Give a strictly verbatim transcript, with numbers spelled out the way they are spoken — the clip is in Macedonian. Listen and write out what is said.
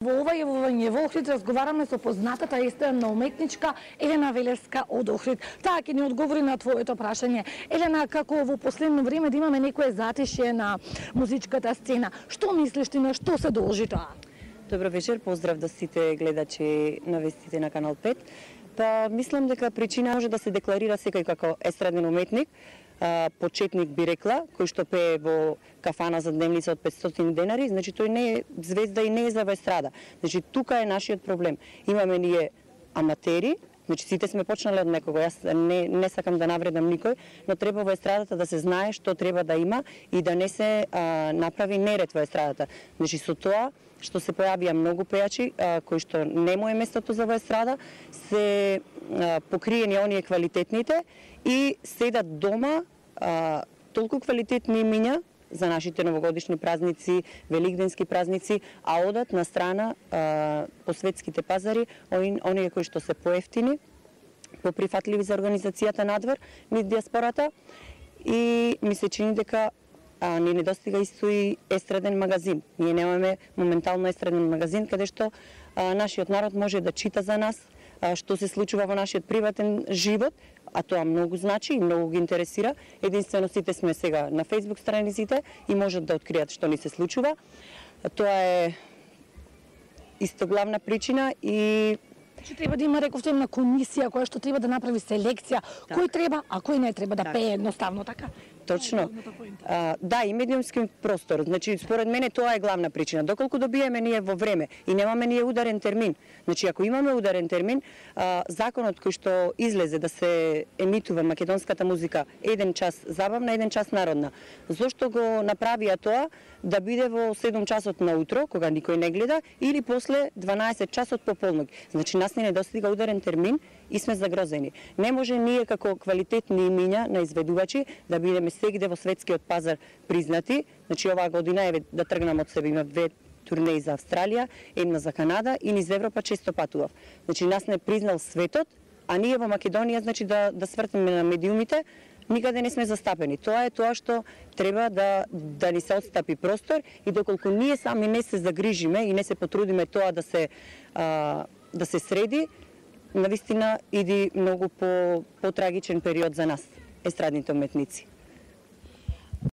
Во ова јавување во Охрид разговараме со познатата естрадна уметничка Елена Велеска од Охрид. Таа ќе ни одговори на твоето прашање. Елена, како во последно време да имаме некое затишје на музичката сцена, што мислиш ти, на што се должи тоа? Добро вечер, поздрав до сите гледачи на вестите на Канал пет. Па мислам дека причина може да се декларира секој како естраден уметник, почетник би рекла, кој што пее во кафана за дневница од петстотини денари, значи тој не е звезда и не е за естрада. Значи тука е нашиот проблем. Имаме ние аматери, значи сите сме почнале од некого. Јас не не сакам да навредам никој, но треба во естрадата да се знае што треба да има и да не се а, направи неред во естрадата. Значи со тоа што се појавија многу пејачи а, кои што не му е местото за во естрада, се а, покриени оние квалитетните и седат дома а, толку квалитетни имиња за нашите новогодишни празници, великденски празници, а одат на страна а, по светските пазари, оние кои што се поевтини, поприфатливи за организацијата надвор, низ диаспората, и ми се чини дека а, ни недостига исто и естраден магазин. Ние немаме моментално естраден магазин, каде што а, нашиот народ може да чита за нас, а, што се случува во нашиот приватен живот, а тоа многу значи и многу ги интересира. Единствено сите сме сега на Facebook страниците и можат да откријат што ни се случува. Тоа е исто главна причина и Че треба да има, рековте, една комисија која што треба да направи селекција, так. Кој треба, а кој не треба да так. Пее едноставно, така? Точно. А, да, и медиумски простор. Значи, според мене тоа е главна причина. Доколку добиеме ние во време и немаме ние ударен термин. Значи, ако имаме ударен термин, а, законот кој што излезе да се емитува македонската музика еден час забавна, еден час народна. Зошто го направија тоа да биде во седум часот на утро, кога никој не гледа, или после дванаесет часот пополнок. Значи, нас не недостига ударен термин и сме загрозени. Не може ние како квалитетни имиња на изведувачи да бидеме сегде во светскиот пазар признати. Значи оваа година еве да тргнам од себе, има две турнеи за Австралија, една за Канада и низ Европа често патував. Значи нас не признал светот, а ние во Македонија значи да да свртиме на медиумите, никаде не сме застапени. Тоа е тоа што треба да да ни се отстапи простор и доколку ние сами не се загрижиме и не се потрудиме тоа да се а, да се среди, навистина иди многу по потрагичен период за нас, естрадните уметници.